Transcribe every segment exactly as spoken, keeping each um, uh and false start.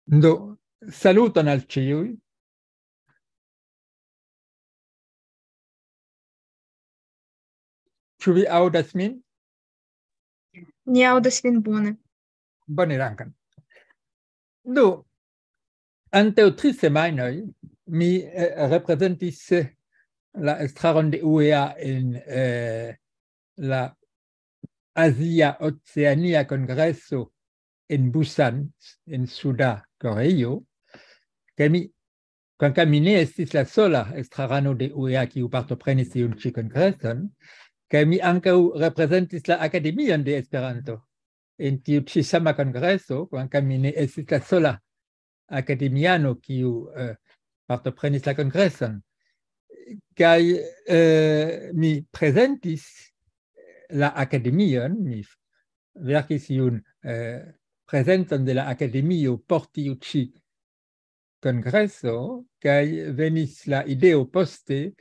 Do, saluton al ĉiuj. Ĉu vi aŭdas min? Ni aŭdas vin bone. Bone, dankan. Do, antaŭ tri semajnoj mi eh, reprezentis eh, la estraron de U E A en eh, la Azia Oceania Kongreso en Busan, en Suda Koreio, kaj mi, kvankam mi ne estis la sola estrarano de U E A kiu partoprenis tiun ĉi kongreson, kaj mi ankaŭ reprezentis la Akademion de Esperanto en tiu ĉi sama kongreso, kvankam mi ne estis la sola akademiano kiu eh, partoprenis la kongreson. Kaj eh, mi prezentis la akademion, mi verkis iun eh, prezenton de la akademio por tiu ĉi kongreso, kaj venis la ideo poste,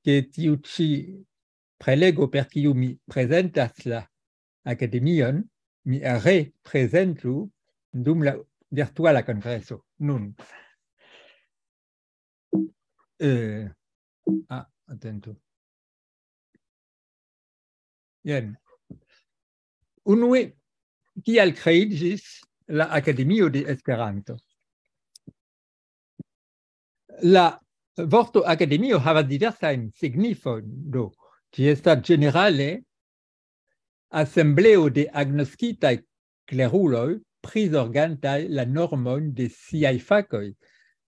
ke tiu ĉi prelego, per kiu mi prezentas la akademion, mi reprezentu dum la virtuala kongreso. Nun. Eh, ah, atentu. Jen. Unue, kial kreiĝis la Akademio de Esperanto? La vorto akademio havas diversajn signifojn. Do, ĝi estas ĝenerale asembleo de agnoskitaj kleruloj prizorgantaj la normojn de siaj fakoj.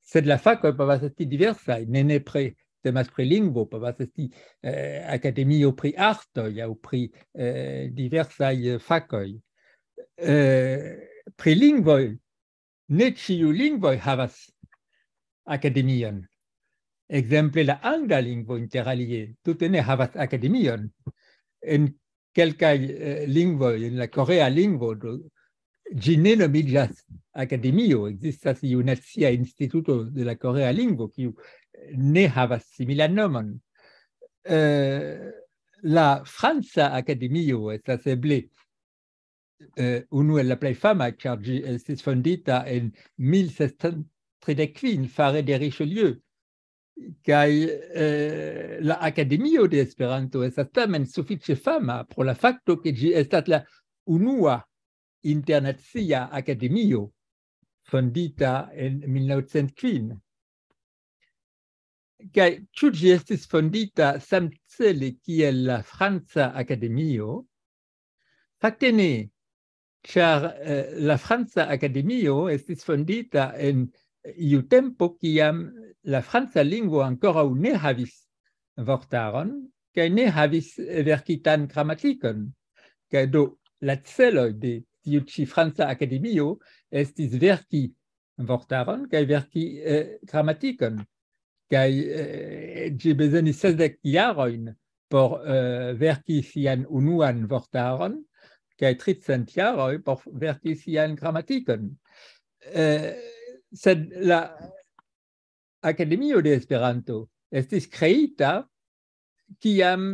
Sed la fakoj povas esti diversaj, ne nepre temas pri lingvo, povas esti eh, akademio pri artoj aŭ pri eh, diversaj eh, fakoj. Eh, pri lingvoj, ne ĉiu lingvoj havas akademion. Ekzemple la angla lingvo inter alie tute ne havas akademion. En kelkaj eh, lingvoj, en la korea lingvo, do, ĝi ne nomiĝas akademio, ekzistas iu nacia instituto de la korea lingvo, kiu ne havas similan nomon. Eh, la franca akademio estas eble eh, unu el la plej famaj, ĉar ĝi estis fondita en mil sescent tridek kvin fare de Richelieu. Kaj eh, la Akademio de Esperanto estas tamen sufiĉe fama pro la fakto, ke ĝi estas la unua internacia akademio fondita en mil novcent kvin. Kaj ĉu ĝi estis fondita samcele kiel la Franca Akademio? Fakte ne, ĉar eh, la Franca Akademio estis fondita en iu tempo, kiam la franca lingvo ankoraŭ ne havis vortaron, kaj ne havis verkitan gramatikon. Kaj do, la celoj de tiu ĉi Franca Akademio estis verki vortaron kaj verki eh, gramatikon. Kaj eh, ĝi bezonis sesdek jarojn por eh, verki sian unuan vortaron, kaj tricent jaroj por verki sian gramatikon. Eh, sed la Akademio de Esperanto estis kreita, kiam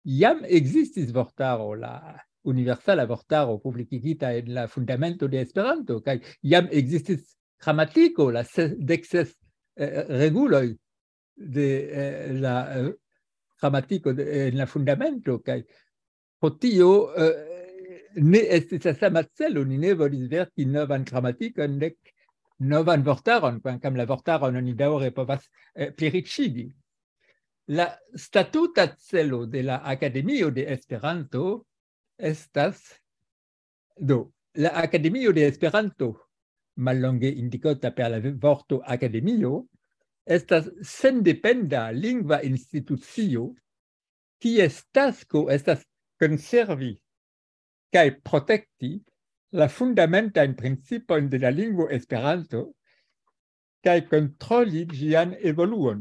jam ekzistis vortaro, la universala vortaro publikigita en la fundamento de Esperanto, kaj jam ekzistis gramatiko, la se- dek ses eh, reguloj de eh, la eh, gramatiko de, en la fundamento, kaj pro tio eh, ne estis la sama celo, ni ne volis verki novan gramatikon, nek novan vortaron, kvankam la vortaron oni daŭre povas eh, pliriĉigi. La statuta celo de la Akademio de Esperanto estas, do, la Akademio de Esperanto, mallonge indikota per la vorto akademio, estas sendependa lingva institucio, kies tasko estas konservi kaj protekti la fundamentajn principojn de la lingvo Esperanto kaj kontroli ĝian evoluon.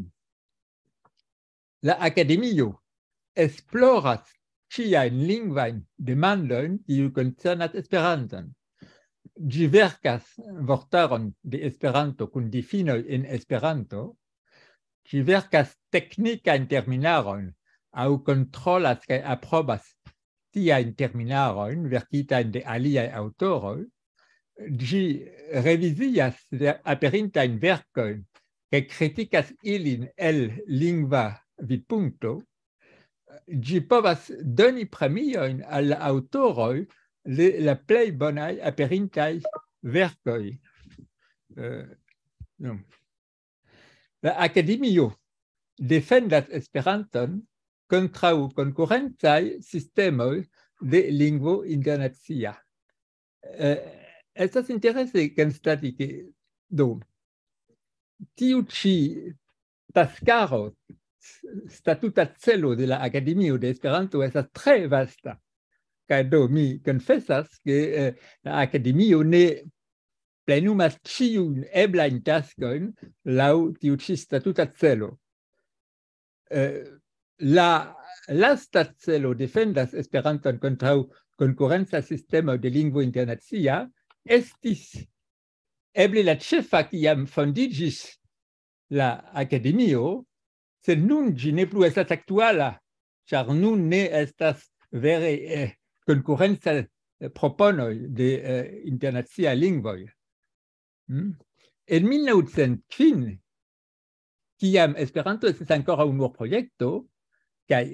La Akademio esploras ĉiajn lingvajn demandojn, kiuj koncernas Esperanton. Ĝi verkas vortaron de Esperanto kun difinoj en Esperanto. Ĝi verkas teknikajn terminarojn aŭ kontrolas kaj aprobas tiajn terminarojn verkitajn de aliaj aŭtoroj. ĝi revizias la aperintajn verkojn kaj kritikas ilin el lingva vidpunkto, ĝi povas doni premiojn al la aŭtoroj de la plej bonaj aperintaj verkoj. Eh, no. La Akademio defendas Esperanton kontraŭ konkurencaj sistemoj de lingvo internacia. Eh, estas interese konstati, ke do tiu ĉi taskaro, statuta celo de la Akademio de Esperanto estas tre vasta. Kaj do mi konfesas, ke eh, la Akademio ne plenumas ĉiujn eblajn taskojn laŭ tiu ĉi statuta celo. Eh, la lasta celo defendas Esperanton kontraŭ konkurenca sistemo de lingvo internacia estis eble la ĉefa, kiam fondiĝis la Akademio, sed nun ĝi ne plu estas aktuala, ĉar nun ne estas vere eh, konkurenca eh, proponoj de eh, internacia lingvoj. Hmm? En mil naŭcent kvin, kiam Esperanto estis ankoraŭ nur projekto, kaj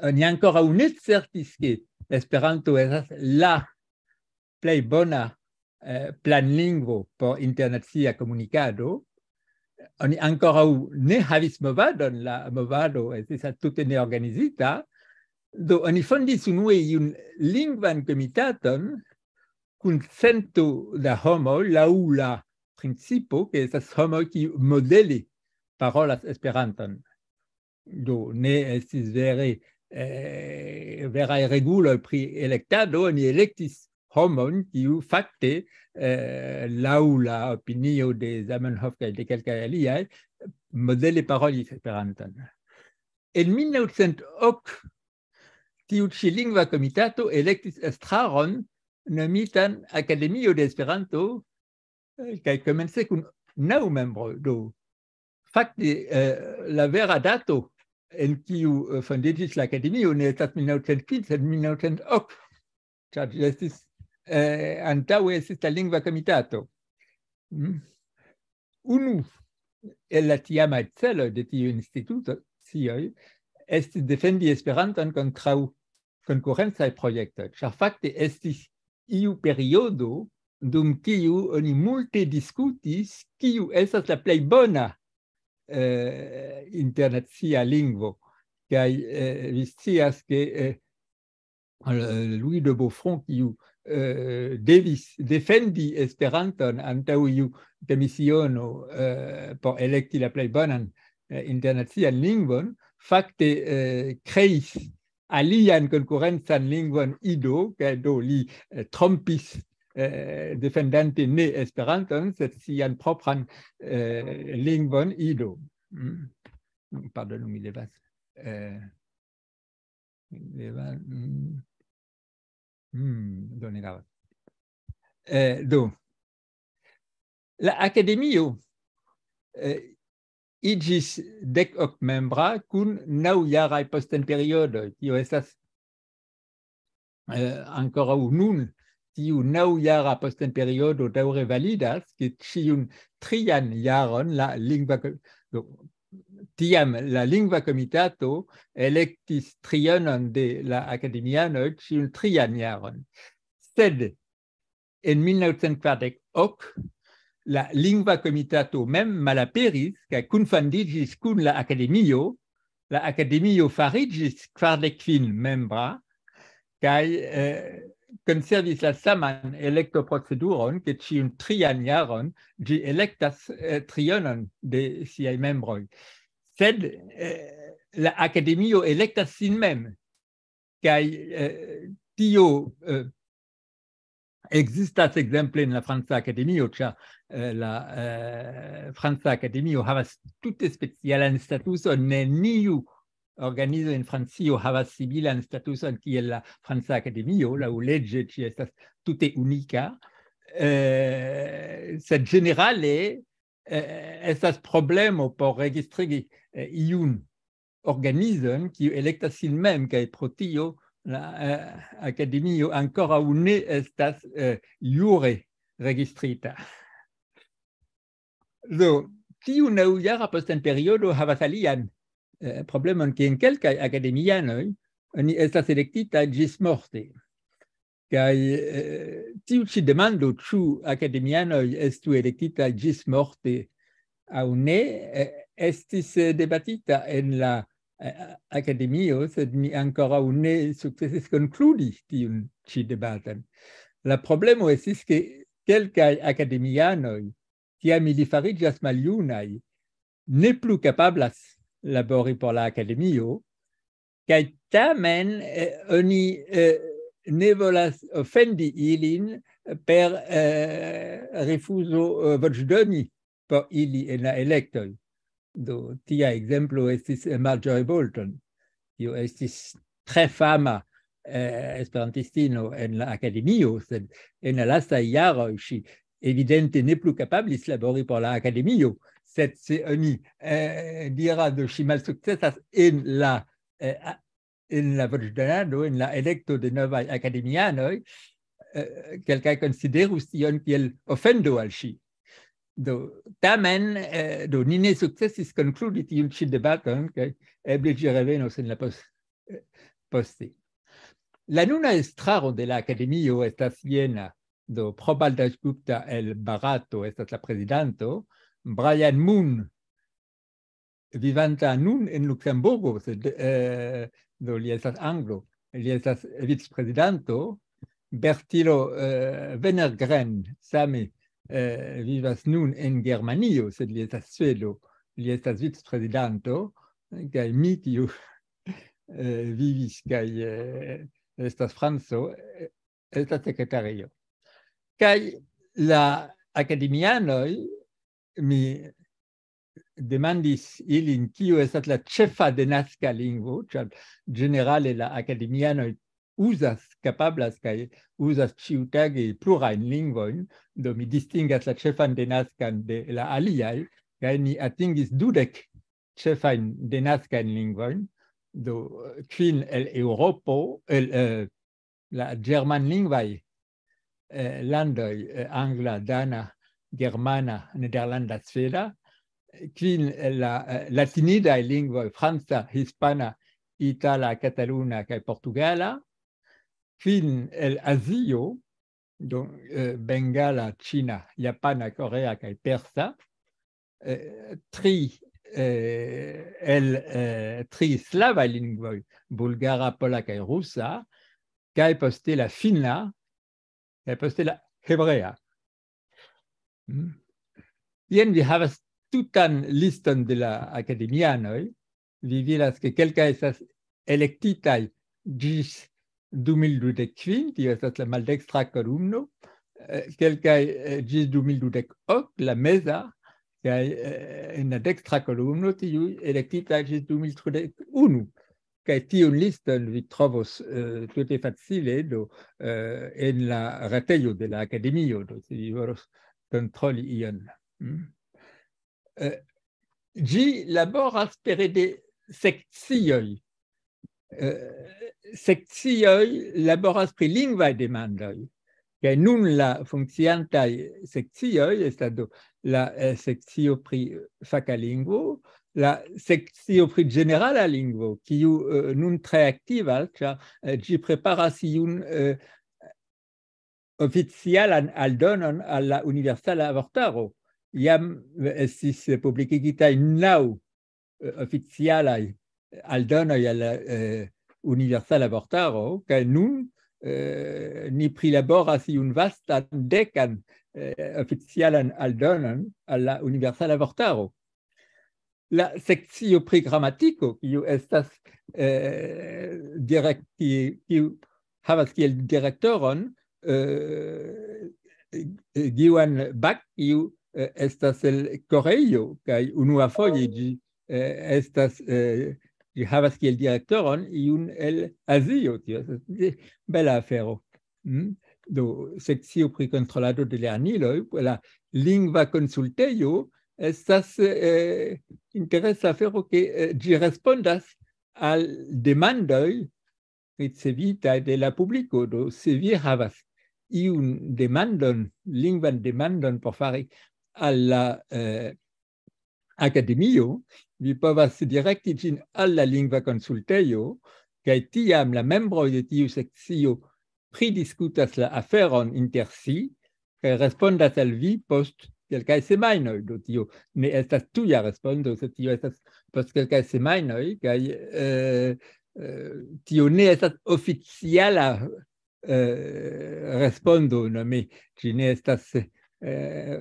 oni ankoraŭ ne certis, ke Esperanto estas la plej bona eh, planlingvo por internacia komunikado, oni ankoraŭ ne havis movadon, la movado estis tute neorganizita, do oni fondis unue iun lingvan komitaton kun cento da homoj laŭ la principo, ke estas homoj, kiu modele parolas Esperanton. Do ne estis vere eh, veraj reguloj pri elektado, oni elektis homon, kiu fakte eh, laŭ la opinio de Zamenhof kaj de kelkaj aliaj modele parolis Esperanton. En mil naŭcent ok tiu ĉi lingva komitato elektis estraron nomitan Akademio de Esperanto, eh, kaj komence kun naŭ membroj. Do fakte eh, la vera dato en kiu eh, fondiĝis la Akademio ne estas mil naŭcent kvin, sed mil naŭcent ok, ĉar ĝi estis eh, antaŭe estis la lingva komitato. Mm. Unu el la tiamaj celoj de tiuj institucioj estis defendi Esperanton kontraŭ konkurencaj projektoj, ĉar fakte estis iu periodo dum kiu oni multe diskutis, kiu estas la plej bona eh, internacia lingvo. Kaj eh, vi scias, ke eh, Louis de Beaufront, kiu eh, devis defendi Esperanton antaŭ iu komisiono eh, por elekti la plej bonan eh, internacian lingvon, fakte eh, kreis alian konkurencan lingvon, Ido, kaj do li eh, trompis eh, defendante ne Esperanton, sed sian propran eh, lingvon, Ido. Mm. Pardonu, mi devas eh, mi devas mm, mm, do ne gravas. Eh, do la Akademio eh, iĝis dek ok membra kun naŭjaraj postenperiodoj. Tio estas eh, ankoraŭ nun. Tiu naŭjara postenperiodo daŭre validas, ke ĉiun trian jaron la lingva ko- do, tiam la lingva komitato elektis trionon de la akademianoj ĉiun trian jaron. Sed en mil naŭcent kvardek ok la lingva komitato mem malaperis kaj kunfandiĝis kun la akademio. La akademio fariĝis kvardek kvin membra kaj eh, konservis la saman elektoproceduron, ke ĉiun trian jaron ĝi elektas eh, trionon de siaj membroj. Sed eh, la akademio elektas sin mem. Kaj eh, tio eh, ekzistas ekzemple en la Franca Akademio, ĉar eh, la eh, Franca Akademio havas tute specialan statuson, neniu organizo en Francio havas similan statuson kiel la Franca Akademio, laŭleĝe ĝi estas tute unika. Eh, sed ĝenerale eh, estas problemo por registrigi eh, iun organizon, kiu elektas sin mem, kaj pro tio la eh, akademio ankoraŭ ne estas eh, jure registrita. Do, tiu naŭjara postenperiodo havas alian eh, problemon, ke en kelkaj akademianoj oni estas elektitaj ĝismorte. Kaj eh, tiu ĉi demando, ĉu akademianoj estu elektitaj ĝismorte aŭ ne, eh, estis eh, debatita en la eh, akademio, sed mi ankoraŭ ne sukcesis konkludi tiun ĉi debaton. La problemo estis, ke kelkaj akademianoj, kiam ili fariĝas maljunaj, ne plu kapablas labori por la akademio, kaj tamen eh, oni eh, ne volas ofendi ilin per eh, rifuzo eh, voĉdoni por ili en la elektoj. Do, tia ekzemplo estis eh, Marjorie Bolton, kiu estis tre fama eh, esperantistino en la akademio, sed en la lastaj jaroj ŝi evidente ne plu kapablis labori por la akademio, sed se oni eh, diras, do ŝi malsukcesas en la eh, a- en la voĉdonado, en la elekto de novaj akademianoj, eh, kelkaj konsiderus tion kiel ofendo al ŝi. Do, tamen, eh, do, ni ne sukcesis konkludi tiun ĉi debaton, kaj eble ĝi revenos en la pos- eh, poste. La nuna estraro de la akademio estas jena. Do, Probal Dasgupta el Barato estas la prezidanto, Brian Moon, vivanta nun en Luksemburgo, sed eh, do li estas anglo, li estas vicprezidanto, Bertilo eh, Wennergren same eh, vivas nun en Germanio, sed li estas svedo, li estas vicprezidanto, kaj mi, kiu eh, vivis kaj eh, estas franco, eh, estas sekretario. Kaj la akademianoj, mi demandis ilin, kio estas la ĉefa denaska lingvo, ĉar ĝenerale la akademianoj uzas, kapablas kaj uzas ĉiutage plurajn lingvojn, do mi distingas la ĉefan denaskan de la aliaj, kaj ni atingis dudek ĉefajn denaskajn lingvojn, do kvin el Eŭropo, el eh, la ĝermanlingvaj eh, landoj, eh, angla, dana, germana, nederlanda, sveda, kvin el la eh, latinidaj lingvoj, franca, hispana, itala, kataluna kaj portugala, kvin el Azio, do, eh, bengala, ĉina, japana, korea kaj persa, eh, tri eh, el eh, tri slavaj lingvoj, bulgara, pola kaj rusa, kaj poste la finna, kaj poste la hebrea. Mm. Jen vi havas tutan liston de la akademianoj. Vi vidas, ke kelkaj estas elektitaj ĝis du mil dudek kvin, tio estas la maldekstra kolumno, eh, kelkaj eh, ĝis du mil dudek ok, la meza, kaj eh, en la dekstra kolumno tiuj elektitaj ĝis du mil tridek unu. Kaj tiun liston vi trovos eh, tute facile, do, eh, en la retejo de la akademio, do, se vi volos kontroli ion. Mm. Eh, ĝi laboras pere de sekcioj. Eh, sekcioj laboras pri lingvaj demandoj. Kaj nun la funkciantaj sekcioj estas, do, la eh, sekcio pri faka lingvo, la sekcio pri ĝenerala lingvo, kiu eh, nun tre aktivas, ĉar eh, ĝi preparas iun eh, oficialan aldonon al la Universala Vortaro. Jam estis publikigitaj naŭ eh, oficialaj aldonoj al la eh, Universala Vortaro, kaj nun eh, ni prilaboras iun vastan dekan eh, oficialan aldonon al la Universala Vortaro. La sekcio pri gramatiko, kiu estas eh, direkti, kiu havas kiel direktoron eh, Giwan Bak, kiu eh, estas el Koreio, kaj unuafoje ĝi eh, estas, eh, ĝi havas kiel direktoron iun el Azio. Tio estas eh, bela afero. Mm? Do, sekcio pri kontrolado de lerniloj, la lingva konsultejo estas eh, interesa afero, ke eh, ĝi respondas al demandoj ricevitaj de la publiko. Do, se vi havas iun demandon, lingvan demandon por fari al la eh, akademio, vi povas direkti ĝin al la lingva konsultejo, kaj tiam la membroj de tiu sekcio pridiskutas la aferon inter si, kaj respondas al vi post kelkaj semajnoj. Do tio ne estas tuja respondo, sed tio estas post kelkaj semajnoj, kaj eh, eh, tio ne estas oficiala eh, respondo, nome ĝi ne estas eh,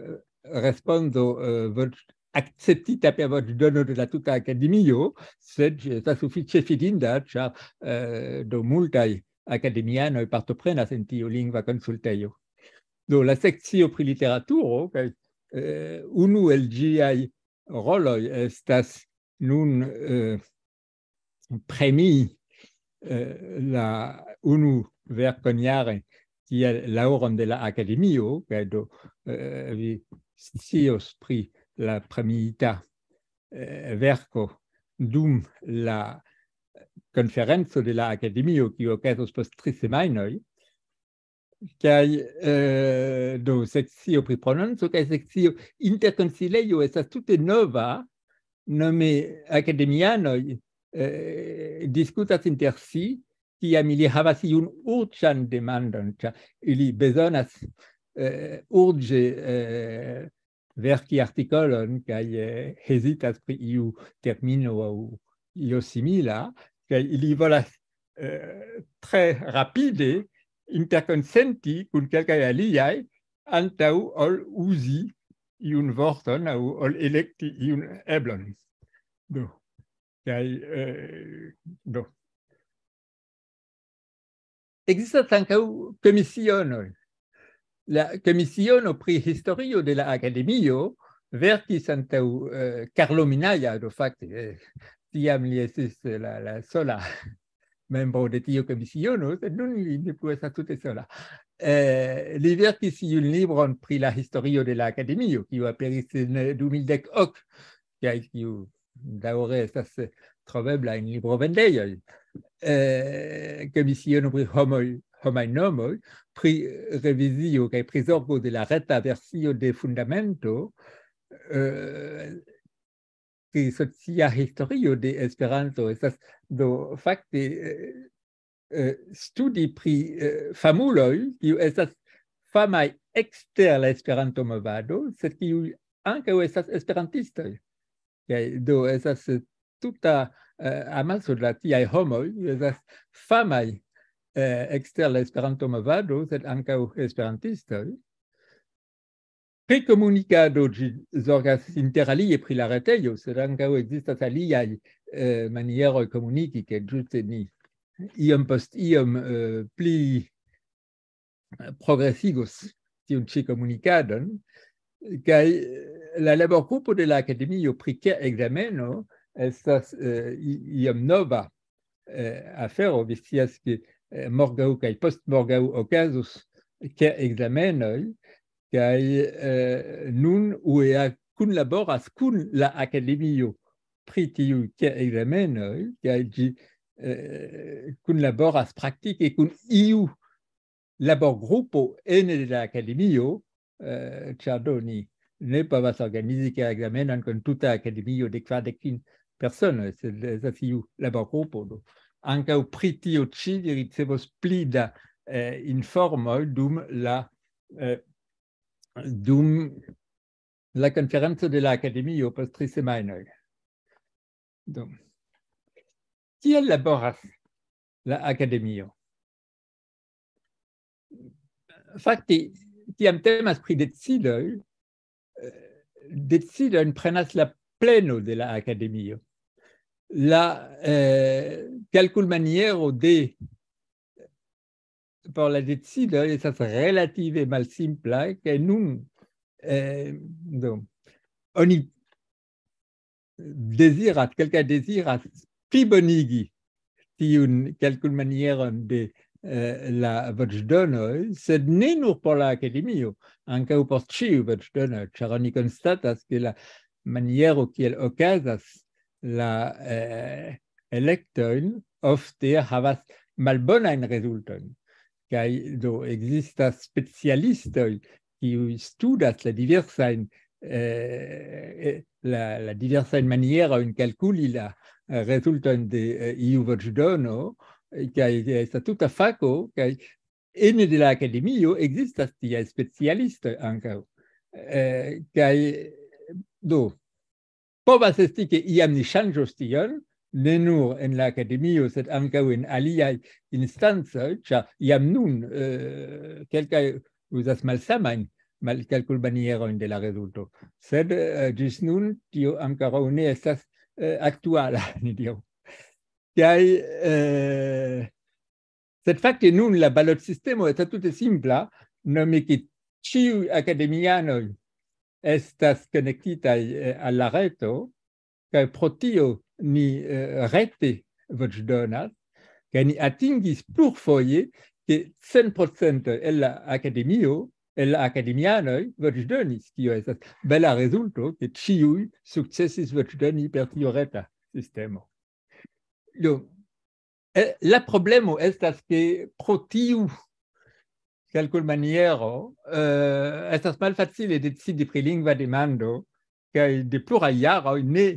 respondo eh, voĉ-, akceptita per voĉdono de la tuta akademio, sed ĝi estas sufiĉe fidinda, ĉar eh, do multaj akademianoj partoprenas en tiu lingva konsultejo. Do la sekcio pri literaturo, kaj eh, unu el ĝiaj roloj estas nun eh, premi eh, la unu verkon jare kiel laŭron de la akademio, kaj do eh, vi scios pri la premiita eh, verko dum la konferenco de la akademio, kiu okazos post tri semajnoj. Kaj eh, do sekcio pri prononco kaj sekcio interkonsilejo estas tute nova, nome akademianoj eh, diskutas inter si, kiam ili havas iun urĝan demandon, ĉar ili bezonas eh, urĝe eh, verki artikolon kaj eh, hezitas pri iu termino aŭ io simila, kaj ili volas eh, tre rapide interkonsenti kun kelkaj aliaj antaŭ ol uzi iun vorton aŭ ol elekti iun eblon. Do, kaj eh, do. Existas ankaŭ komisionoj. La komisiono pri historio de la akademio verkis antaŭ eh, Carlo Minnaia, do fakte eh, tiam li estis la, la sola membro de tiu komisiono, sed nun li ne plu estas tute sola. Eh, li verkis iun libron pri la historio de la akademio, kiu aperis en eh, du mil dek ok, kaj kiu daŭre estas eh, trovebla en librovendejoj. Eh, komisiono pri homoj, homaj nomoj, pri revizio kaj prizorgo de la reta versio de Fundamento, eh, pri socia historio de Esperanto estas do fakte eh, eh, studi pri eh, famuloj, kiu estas famaj ekster la Esperanto-movado, sed kiuj ankaŭ estas esperantistoj. Kaj do estas eh, tuta eh, amaso de la tiaj homoj, kiuj estas famaj eh, ekster la Esperanto-movado, sed ankaŭ esperantistoj. Pri komunikado ĝi zorgas inter alie pri la retejo, sed ankaŭ ekzistas aliaj eh, manieroj komuniki, ke ĝuste ni iom post iom eh, pli eh, progresigos tiun ĉi komunikadon. Kaj eh, la laborgrupo de la Akademio pri ke ekzameno estas eh, i- iom nova eh, afero. Vi scias, ke eh, morgaŭ kaj postmorgaŭ okazos ke ekzamenoj, kaj eh, nun U E A kunlaboras kun la Akademio pri tiuj ke ekzamenoj, kaj ĝi eh, kunlaboras praktike kun iu laborgrupo ene de la Akademio, eh, ĉar do ni ne povas organizi ke ekzamenon kun tuta Akademio de kvardek kvin personoj, sed estas iu laborgrupo. Do. Ankaŭ pri tio ĉi vi ricevos pli da eh, informoj dum la eh, dum la konferenco de la Akademio post tri semajnoj. Do. Kiel laboras la Akademio? Fakte, kiam temas pri decidoj, eh, decidojn prenas la pleno de la Akademio. La eh, kalkulmaniero de por la decidoj estas relative malsimpla, kaj nun eh, do, oni deziras, kelkaj deziras plibonigi tiun kalkulmanieron de eh, la voĉdonoj, sed ne nur por la Akademio, ankaŭ por ĉiuj voĉdonoj, ĉar oni konstatas, ke la maniero kiel okazas la eh, elektojn ofte havas malbonajn rezultojn. Kaj do ekzistas specialistoj, kiuj studas la diversajn, eh, la, la diversajn manierojn kalkuli la, eh, rezultojn de, eh, iu voĉdono, eh, kaj estas tuta fako, kaj ene de la akademio ekzistas tiaj specialistoj ankaŭ. Eh, kaj do, povas esti, ke iam ni ŝanĝos tion, ne nur en la akademio, sed ankaŭ en aliaj instancoj, ĉar jam nun, eh, kelkaj uzas malsamajn mal-, kalkulmanierojn de la rezulto. Sed, eh, ĝis nun tio ankoraŭ ne estas, eh, aktuala, ni diru. Kaj, eh, sed fakte nun la balotsistemo estas tute simpla, nome ke ĉiuj akademianoj estas konektitaj, eh, al la reto, kaj pro tio ni, eh, rete voĉdonas, kaj ni atingis plurfoje, ke cent procent el la akademio, el la akademianoj voĉdonis, kio estas bela rezulto, ke ĉiuj sukcesis voĉdoni per tiu reta sistemo. Do, eh, la problemo estas, ke pro tiu kalkulmaniero, eh, estas malfacile decidi pri lingva demando, kaj de pluraj jaroj ne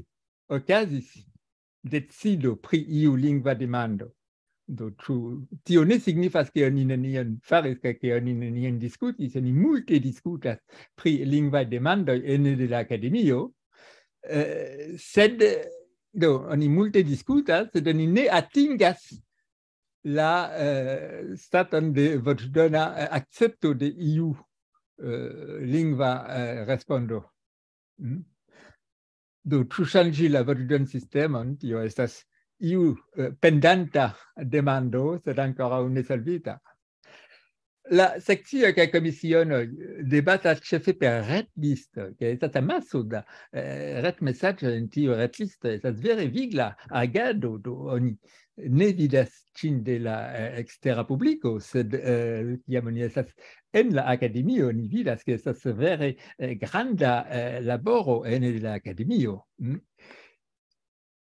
okazis decido pri iu lingva demando. Do, ĉu tio ne signifas, ke oni nenion faris kaj ke oni nenion diskutis? Oni multe diskutas pri lingvaj demandoj ene de la akademio, eh, sed, do, oni multe diskutas, sed oni ne atingas la, eh, staton de voĉdona, eh, akcepto de iu, eh, lingva, eh, respondo. Mm? Do, ĉu ŝanĝi la voĉdonsistemon? Tio estas iu, eh, pendanta demando, sed ankoraŭ ne solvita. La sekcioj kaj komisionoj debatas ĉefe per retlistoj, kaj estas amaso da, eh, retmesaĝoj en tiu retlisto. Estas vere vigla agado, do oni ne vidas ĝin de la, eh, ekstera publiko, sed, eh, kiam oni estas en la akademio, oni vidas, ke estas vere, eh, granda, eh, laboro ene de la akademio. Mm?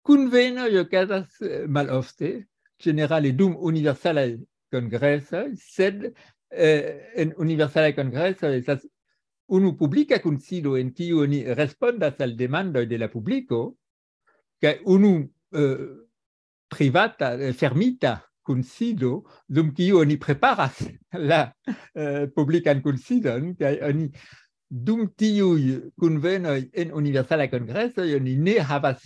Kunvenoj okazas, eh, malofte, ĝenerale dum universalaj kongresoj, sed, eh, en universalaj kongresoj estas unu publika kunsido en kiu oni respondas al demandoj de la publiko, kaj unu, eh, privata, eh, fermita kunsido, dum kiu oni preparas la, eh, publikan kunsidon, kaj oni dum tiuj kunvenoj en universalaj kongresoj, oni ne havas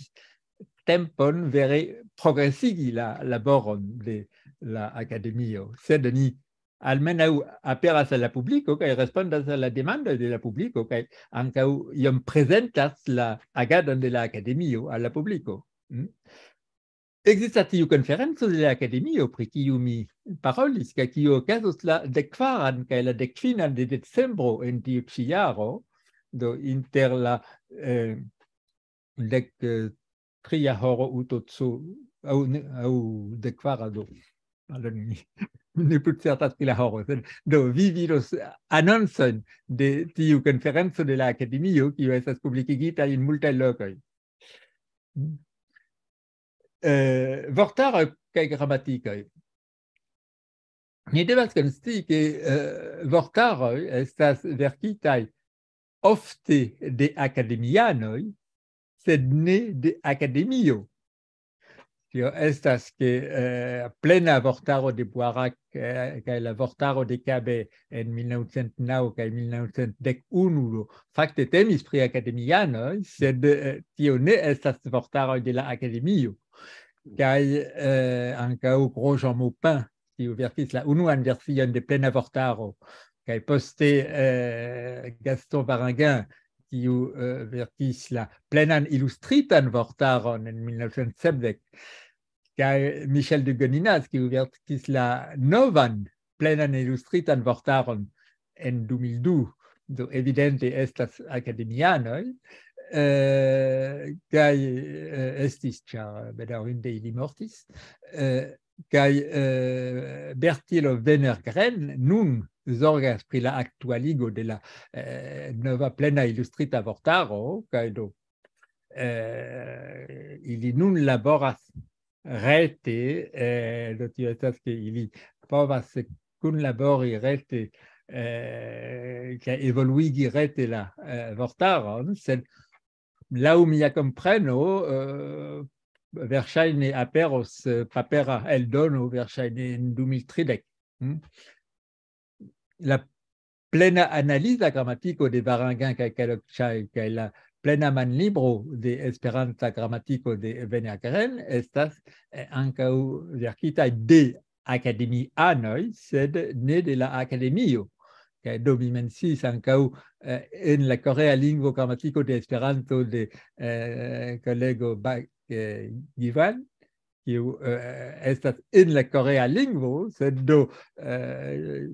tempon vere progresigi la laboron de la akademio, sed oni almenaŭ aperas al la publiko kaj respondas al la demandoj de la publiko kaj ankaŭ iom prezentas la agadon de la akademio al la publiko. Mm? Ekzistas tiu konferenco de la akademio, pri kiu mi parolis, kaj kiu okazos la dek kvaran kaj la dek finan de decembro en tiu ĉi jaro, do inter la, eh, dek, eh, tria horo utoco, aŭ ne, aŭ dek kvara, do. Pardonu, mi ne plu certas pri la horo, sed, do, vi vidos anoncojn de tiu konferenco de la akademio, kiu estas publikigita en multaj lokoj. Eh, vortaroj kaj gramatikoj. Ni devas konscii, ke, eh, vortaroj estas verkitaj ofte de akademianoj, sed ne de akademio. Tio estas, ke, eh, plena vortaro de Boirac, eh, kaj la vortaro de Cabet en mil naŭcent naŭ kaj mil naŭcent dek unu, do, fakte temis pri akademianoj, sed, eh, tio ne estas vortaroj de la akademio. Kaj, eh, ankaŭ Gros-Jean Maupin, kiu verkis la unuan version de plena vortaro, kaj poste, eh, Gaston Varenguin, kiu, eh, verkis la plenan ilustritan vortaron en mil naŭcent sepdek, kaj Michel de Goninas, kiu verkis la novan plenan ilustritan vortaron en du mil du, do evidente estas akademianoj, eh, kaj, eh, estis, ĉar bedaŭrinde ili mortis, eh, kaj, eh, Bertilo Wenner-Gren nun zorgas pri la aktualigo de la, eh, nova plena ilustrita vortaro, kaj do, eh, ili nun laboras rete, eh, do tio estas, ke ili povas kunlabori rete, eh, kaj evoluigi rete la, eh, vortaron, sed laŭ mia kompreno, eh, verŝajne aperos, eh, papera eldono, verŝajne en du mil tridek. Hm? La plena analiza gramatiko de Varangan kaj Kalokĉaj kaj la plena manlibro de Esperanta gramatiko de Venagren estas, eh, ankaŭ verkitaj de akademianoj, sed ne de la akademio. Kaj do mi menciis ankaŭ, eh, en la korea lingvo gramatiko de Esperanto de, eh, kolego Ba-, eh, Givan, kiu, eh, estas en la korea lingvo, sed do, eh,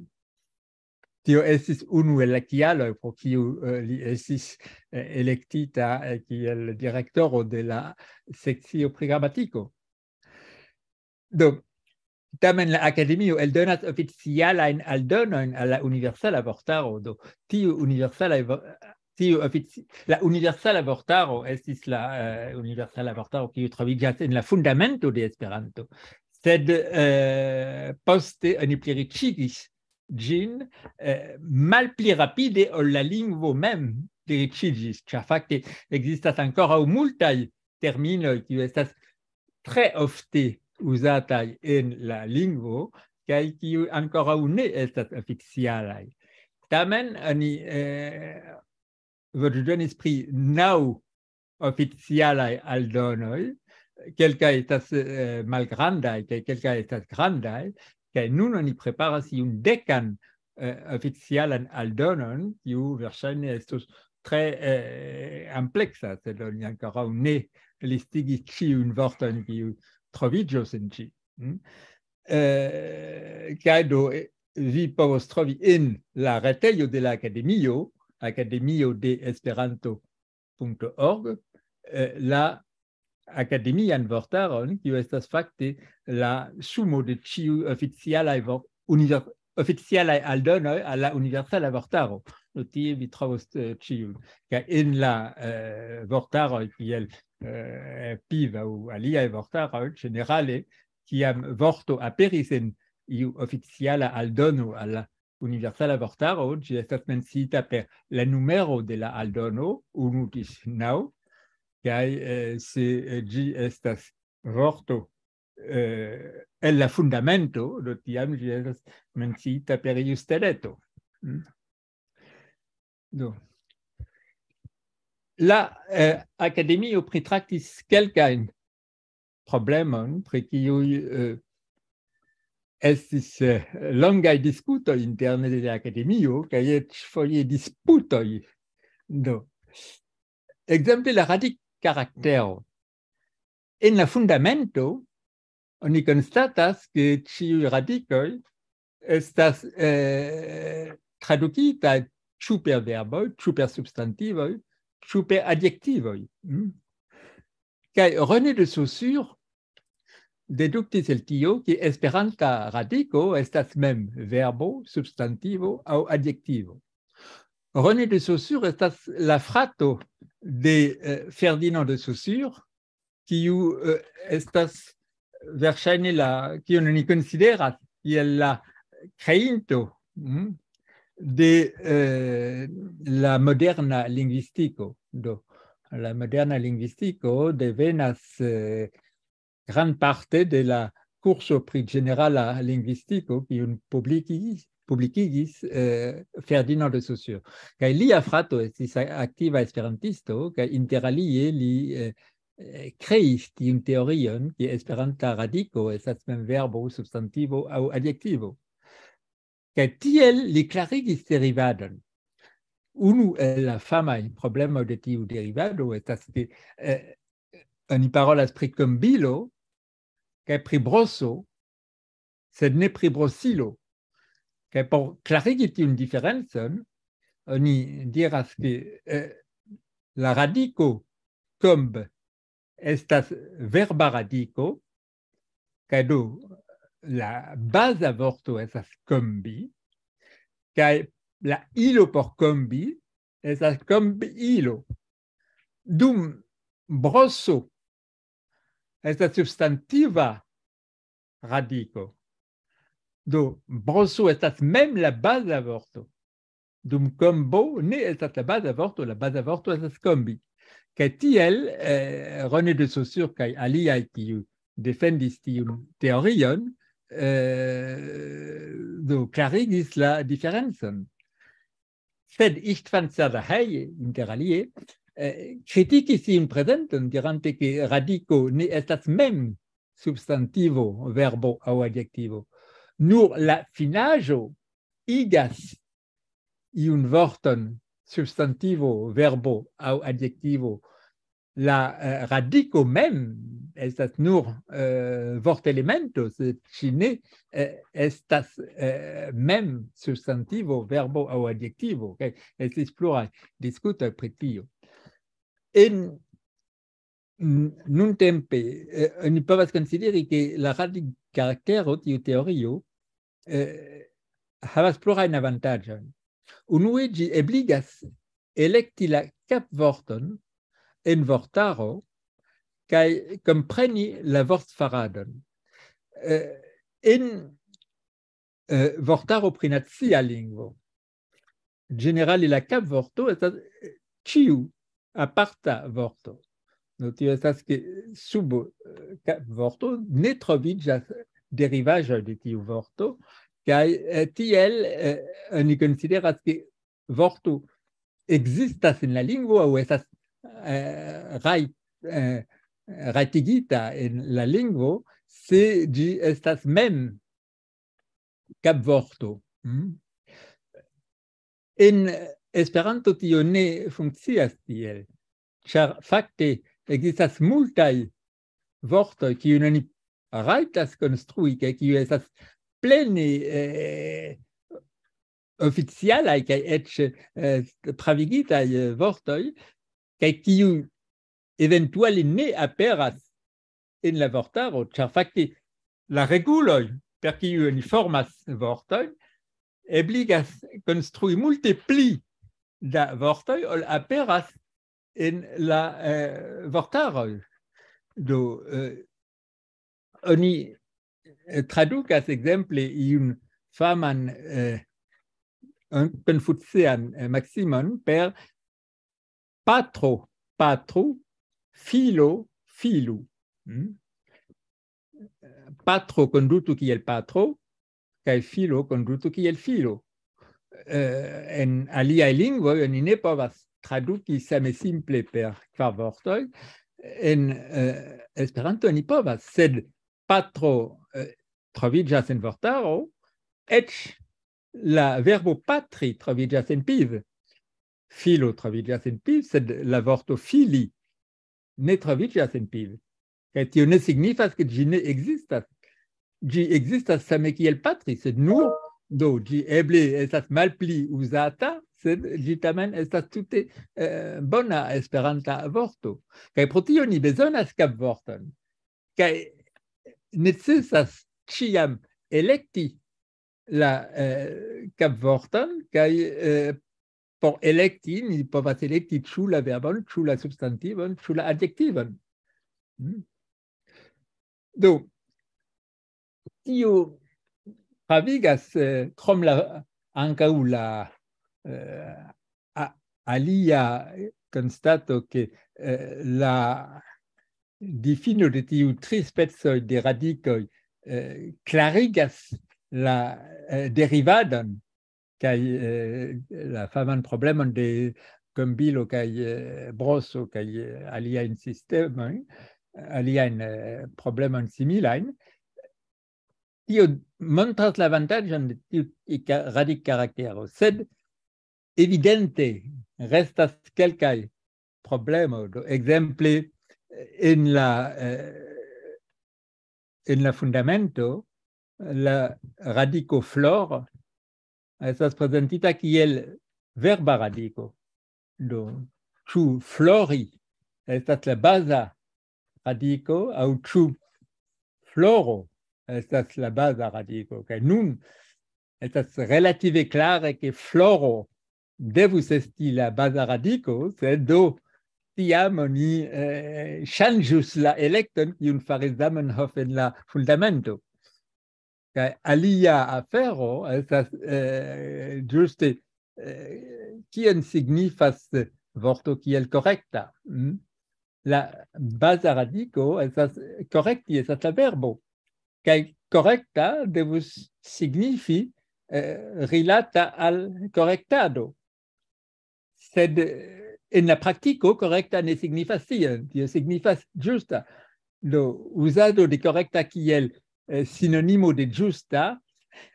tio estis unu el la kialoj pro kiu, eh, li estis, eh, elektita, eh, kiel direktoro de la sekcio pri gramatiko. Do, tamen la akademio eldonas oficialajn aldonojn al la universala vortaro. Do, tiu universalaj vo-, tiu ofici-, la universala vortaro estis la, eh, universala vortaro, kiu troviĝas en la fundamento de Esperanto. Sed, eh, poste oni pliriĉigis ĝin, eh, malpli rapide ol la lingvo mem pliriĉiĝis, ĉar fakte ekzistas ankoraŭ multaj terminoj, kiuj estas tre ofte uzataj en la lingvo, kaj kiuj ankoraŭ ne estas oficialaj. Tamen oni, eh, voĉdonis pri naŭ oficialaj aldonoj, kelkaj estas, eh, malgrandaj, kaj kelkaj estas grandaj, kaj nun oni preparas iun dekan, eh, oficialan aldonon, kiu verŝajne estos tre, eh, ampleksa, sed oni ankoraŭ ne listigis ĉiujn vortojn, kiuj troviĝos en ĝi. Mm? Eh, kaj do, eh, vi povos trovi en la retejo de la akademio, akademio de Esperanto punto org, eh, la akademian vortaron, kiu estas fakte la sumo de ĉiuj oficialaj vor-, univer-, oficialaj aldonoj al la universala vortaro. Do tie vi trovos, eh, ĉiujn. Kaj en la, eh, vortaroj kiel, eh, piv aŭ aliaj vortaroj, ĝenerale, kiam vorto aperis en iu oficiala aldono al la universala vortaro, ĝi estas menciita per la numero de la aldono, unu ĝis naŭ, kaj, eh, se, eh, ĝi estas vorto, eh, el la fundamento, do tiam ĝi estas menciita per iu steleto. Mm. Do. La, eh, akademio pritraktis kelkajn problemojn, pri kiuj, eh, estis, eh, longaj diskutoj interne de la akademio, kaj eĉ foje disputoj. Do, ekzemple la radikkaraktero. En la fundamento oni konstatas, ke ĉiuj radikoj estas, eh, tradukitaj ĉu per verboj, ĉu per substantivoj, ĉu per adjektivoj. Mm? Kaj René de Saussure deduktis el tio, ke esperanta radiko estas mem verbo, substantivo aŭ adjektivo. René de Saussure estas la frato de, eh, Ferdinand de Saussure, kiu, eh, estas verŝajne la, kiun oni konsideras kiel la kreinto, mm, de, eh, la moderna lingvistiko. Do, la moderna lingvistiko devenas, eh, grandparte de la kurso pri ĝenerala lingvistiko, kiun publikigis, publikigis, eh, Ferdinand de Saussure. Kaj lia frato estis a-, aktiva esperantisto, kaj inter alie li, eh, eh, kreis tiun teorion, ke esperanta radiko estas mem verbo, substantivo aŭ adjektivo. Kaj tiel li klarigis derivadon. Unu el la famaj problemoj de tiu derivado estas, ke, eh, oni parolas pri kombilo kaj pri broso, sed ne pri brosilo. Kaj por klarigi tiun diferencon, oni diras, ke, eh, la radiko komb estas verba radiko, kaj do la baza vorto estas kombi, kaj la ilo por kombi estas kombilo. Dum broso estas substantiva radiko. Do, broso estas mem la baza vorto. Dum kombo ne estas la baza vorto, la baza vorto estas kombi. Kaj tiel eh, René de Saussure kaj aliaj, kiu defendis tiun teorion, eh, do klarigis la diferencon. Sed Istvan Szadahely, inter alie, eh, kritikis tiun prezenton, dirante, ke radiko ne estas mem substantivo, verbo aŭ adjektivo. Nur la finaĵo igas iun vorton, substantivo, verbo aŭ adjektivo. La eh, radiko mem estas nur eh, vortelemento, sed ŝi ne eh, estas eh, mem substantivo, verbo aŭ adjektivo. Kaj estis pluraj diskutoj pri tio. En n- nuntempe eh, oni povas konsideri, ke la radikaraktero, tiu teorio, eh, havas plurajn avantaĝojn. Unue, ĝi ebligas elekti la kapvorton en vortaro kaj kompreni la vortfaradon. Eh, en eh, vortaro pri nacia lingvo, ĝenerale la kapvorto estas eh, ĉiu aparta vorto. Do tio estas, ke sub eh, kapvorto ne troviĝas derivaĵoj de tiu vorto, kaj eh, tiel eh, oni konsideras, ke vorto ekzistas en la lingvo aŭ estas eh, raj, eh, rajtigita en la lingvo, se ĝi estas mem kapvorto. Mm? En Esperanto tio ne funkcias tiel, ĉar fakte ekzistas multaj vortoj, kiujn oni rajtas konstrui, kaj kiuj estas plene eh, oficialaj kaj eĉ eh, pravigitaj eh, vortoj, kaj kiuj eventuale ne aperas en la vortaro, ĉar fakte la reguloj, per kiuj oni formas vortojn, ebligas konstrui multe pli da vortoj, ol aperas en la eh, vortaroj. Do, eh, oni eh, tradukas ekzemple iun faman eh, konfucian eh, maksimon per patro, patru, filo, filu. Hmm? Patro kondutu kiel patro, kaj filo kondutu kiel filo. Eh, en aliaj lingvoj oni ne povas traduki same simple per kvar vortoj. En eh, Esperanto oni povas, sed patro eh, troviĝas en vortaro, eĉ la verbo patri troviĝas en piv. Filo troviĝas en piv, sed la vorto fili ne troviĝas en piv. Kaj tio ne signifas, ke ĝi ne ekzistas. Ĝi ekzistas same kiel patri, sed nur, do, ĝi eble estas malpli uzata, sed ĝi tamen estas tute eh, bona esperanta vorto. Kaj pro tio ni bezonas kapvorton. Kaj necesas ĉiam elekti la eh, kapvorton, kaj eh, por elekti ni povas elekti ĉu la verbon, ĉu la substantivon, ĉu la adjektivon. Hmm? Do, tio pravigas eh, krom la ankaŭ la eh, a- alia konstato, ke eh, la difino de tiu tri specoj de radikoj eh, klarigas la eh, derivadon kaj eh, la faman problemon de Kombilo kaj eh, Broso kaj eh, aliajn sistemojn, aliajn eh, problemojn similajn. Tio montras la avantaĝon de tiu ka- radikkaraktero, sed evidente restas kelkaj problemoj. Do, ekzemple, en la, eh, en la fundamento, la radiko flor estas prezentita kiel verba radiko. Do, ĉu flori estas la baza radiko aŭ ĉu floro estas la baza radiko? Kaj nun estas relative klare, ke floro devus esti la baza radiko, sed do tiam oni eh, ŝanĝus la elekton, kiun faris Zamenhof en la fundamento. Kaj alia afero estas eh, ĝuste eh, kion signifas vorto kiel korekta. Mm? La baza radiko estas korekti, estas la verbo. Kaj korekta devus signifi eh, rilata al korektado. Sed eh, en la praktiko korekta ne signifas tion, tio signifas ĝusta. Do uzado de korekta kiel eh, sinonimo de ĝusta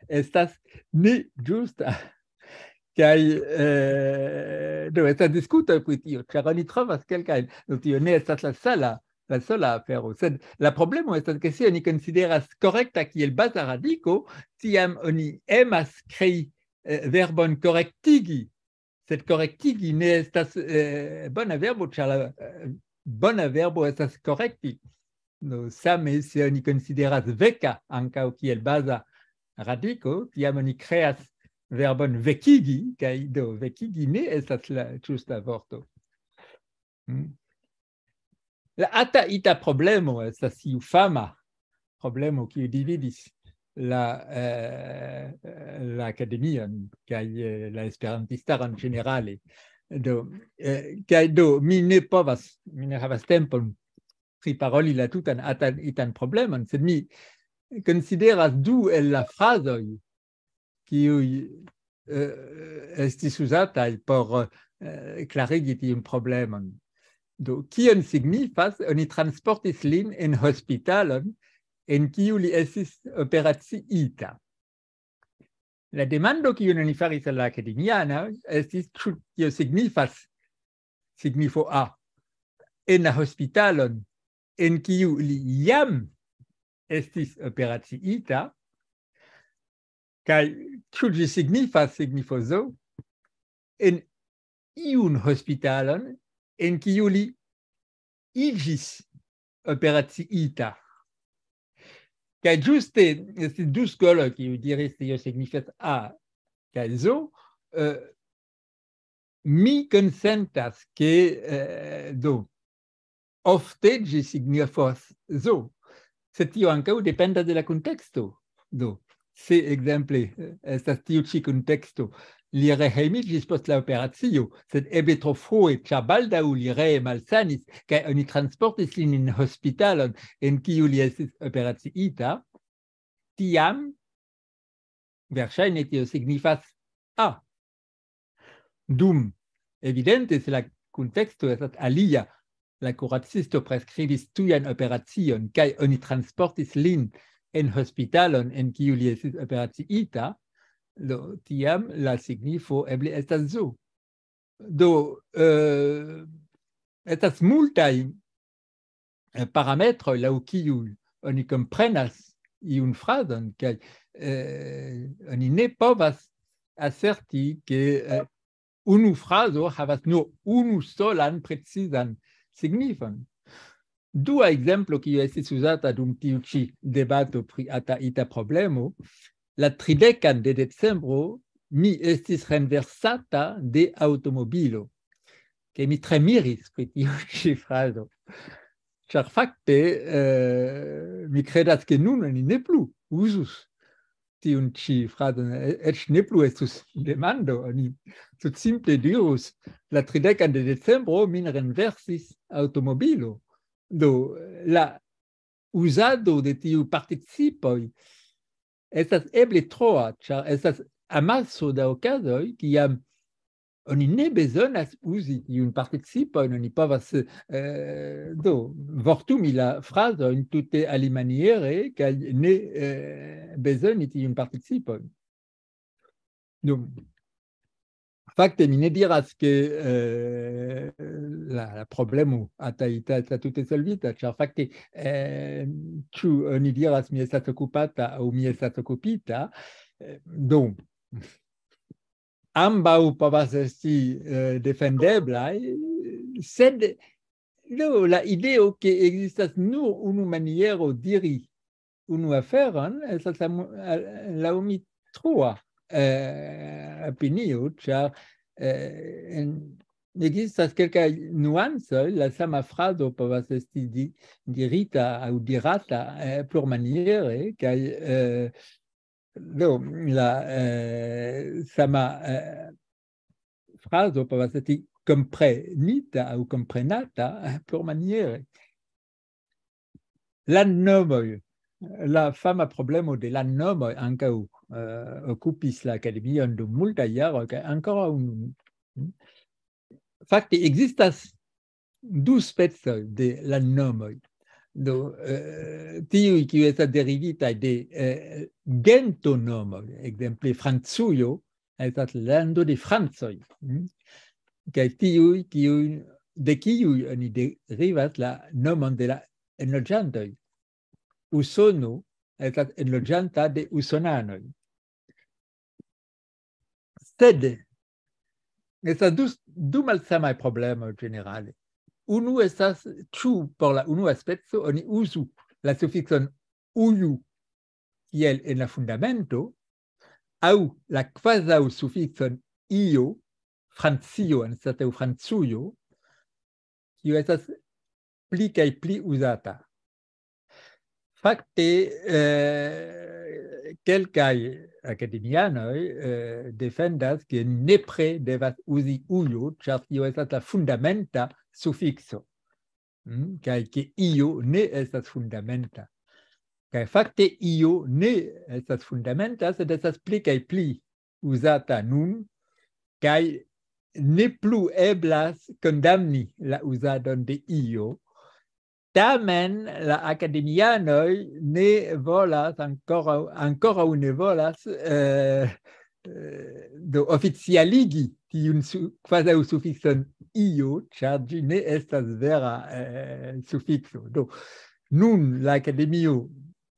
estas ne ĝusta. Kaj eh, do estas diskutoj pri tio, ĉar oni trovas kelkajn, do tio ne estas la sala la sola afero. Sed la problemo estas, ke se oni konsideras korekta kiel baza radiko, tiam oni emas krei eh, verbon korektigi. Sed korektigi ne estas eh, bona verbo, ĉar la eh, bona verbo estas korekti. No, same se oni konsideras veka ankaŭ kiel baza radiko, tiam oni kreas verbon vekigi, kaj do vekigi ne estas la ĝusta vorto. Mm. La ata ita problemo estas iu fama problemo, kiu dividis la, eh, la akademion kaj eh, la esperantistaron ĝenerale. Do, eh, kaj do, mi ne povas, mi ne havas tempon priparoli la tutan atan, itan problemon, sed mi konsideras du el la frazoj, kiuj eh, estis uzataj por eh, klarigi tiun problemon. Do, kion signifas, oni transportis lin en hospitalon, en kiu li estis operaciita? La demando, kiun oni faris al la akademianoj, estis, ĉu tio signifas signifo A en la hospitalon, en kiu li jam estis operaciita, kaj ĉu ĝi signifas signifo zo en iun hospitalon, en kiu li iĝis operaciita. Kaj ĝuste estis du skoloj, kiuj diris, tio signifas A kaj zo. Eh, mi konsentas, ke eh, do, ofte ĝi signifas zo, sed tio ankaŭ dependas de la konteksto. Do, se ekzemple eh, estas tiu ĉi konteksto, li rehejmiĝis post la operacio, sed eble tro frue, ĉar baldaŭ li ree malsanis, kaj oni transportis lin en hospitalon, en kiu li estis operaciita, tiam verŝajne tio signifas A. Dum, evidente, se la kunteksto estas alia, la kuracisto preskribis tujan operacion, kaj oni transportis lin en hospitalon, en kiu li estis operaciita, do, tiam la signifo eble estas zo. Do, eh, estas multaj eh, parametroj laŭ kiuj oni komprenas iun frazon, kaj eh, oni ne povas aserti, ke eh, unu frazo havas nur unu solan precizan signifon. Dua ekzemplo, kiu estis uzata dum tiu ĉi debato pri ata ita problemo, la tridekan de decembro mi estis renversata de aŭtomobilo, ke mi tre miris pri tiu ĉi frazo. Ĉar fakte eh, mi kredas, ke nun oni ne plu uzus tiun ĉi frazon, e- eĉ ne plu estus demando, oni tutsimple dirus: la tridekan de decembro min renversis aŭtomobilo. Do, la uzado de tiu participoj estas eble troa, ĉar estas amaso da okazoj, kiam oni ne bezonas uzi tiun participojn, oni povas eh, do, vortumi la frazojn tute alimaniere, kaj ne eh, bezoni tiun participojn. Do, fakte, mi ne diras, ke eh, la, la problemo ataita estas tute solvita, ĉar fakte eh, ĉu oni diras: "Mi estas okupata" aŭ "Mi estas okupita"? Eh, do, ambaŭ povas esti eh, defendeblaj, sed do, la ideo, ke ekzistas nur unu maniero diri unu aferon, estas la mu- al- laŭ mi trua eh, opinio, ĉar eh, en- ekzistas kelkaj nuancoj, la sama frazo povas esti di- dirita aŭ dirata eh, plurmaniere, kaj eh, Do, la eh, sama eh, frazo povas esti komprenita aŭ komprenata eh, plurmaniere. La nomoj, la fama problemo de la nomoj ankaŭ eh, okupis la akademion dum multaj jaroj, kaj ankoraŭ nun. Fakte, ekzistas du specoj de la nomoj. Do, eh, tiuj, kiuj estas derivitaj de eh, gentonomoj, ekzemple Francujo estas lando de francoj, mm? Kaj tiuj, kiuj, de kiuj oni derivas la nomon de la enloĝantoj. Usono estas enloĝanta de usonanoj. Sed estas du, du malsamaj problemoj ĝenerale. Unu estas, ĉu por la unua speco oni uzu la sufikson uju kiel en la fundamento, aŭ la kvazaŭ sufikson io, Francio anstataŭ Francujo, kiu estas pli kaj pli uzata. Fakte, eh, kelkaj akademianoj eh, defendas, ke nepre devas uzi ujo, ĉar tio estas la fundamenta sufikso. Mm, kaj ke io ne estas fundamenta. Kaj fakte io ne estas fundamenta, sed estas pli kaj pli uzata nun, kaj ne plu eblas kondamni la uzadon de io. Tamen la akademianoj ne volas ankoraŭ, ankoraŭ ne volas eh, eh, do oficialigi tiun su, kvazaŭ sufikson io, ĉar ĝi ne estas vera eh, sufikso. Do, nun la akademio